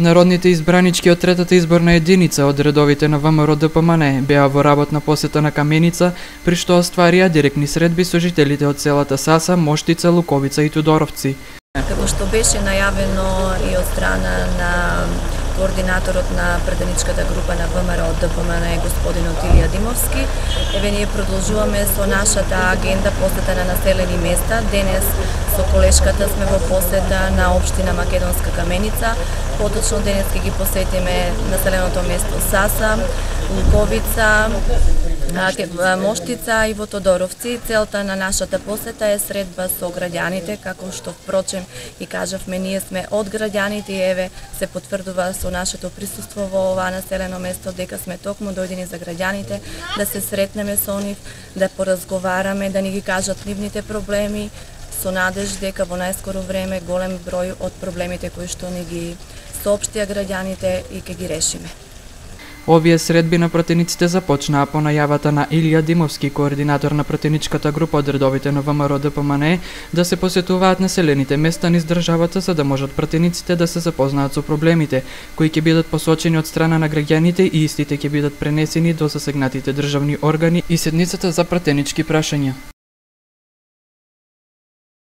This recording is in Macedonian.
Народните избранички од третата изборна единица од редовите на ВМРО-ДПМНЕ беа во работна посета на Каменица, при што остварија директни средби со жителите од селата Саса, Моштица, Луковица и Тодоровци. Како што беше најавено и од страна на координаторот на претеничката група на ВМРО-ДПМНЕ господин Отилија Димовски, ние продолжуваме со нашата агенда посета на населени места. Денес со колешката сме во посета на општина Македонска Каменица, поточно денес ќе ги посетиме населеното место Саса, Луковица, Моштица и во Тодоровци. Целта на нашата посета е средба со граѓаните, како што впрочем и кажавме, ние сме од граѓаните и еве се потврдува со нашето присуство во ова населено место дека сме токму дојдени за граѓаните, да се сретнеме со нив, да поразговараме, да ни ги кажат нивните проблеми, со надеж дека во најскоро време голем број од проблемите кои што ни ги соопштија граѓаните и ќе ги решиме. Овие средби на пратениците започнаа по најавата на Илија Димовски, координатор на пратеничката група од редовите на ВМРО-ДПМНЕ, да се посетуваат населените места низ државата за да можат пратениците да се запознаат со проблемите, кои ќе бидат посочени од страна на граѓаните и истите ќе бидат пренесени до засегнатите државни органи и седницата за пратенички прашања.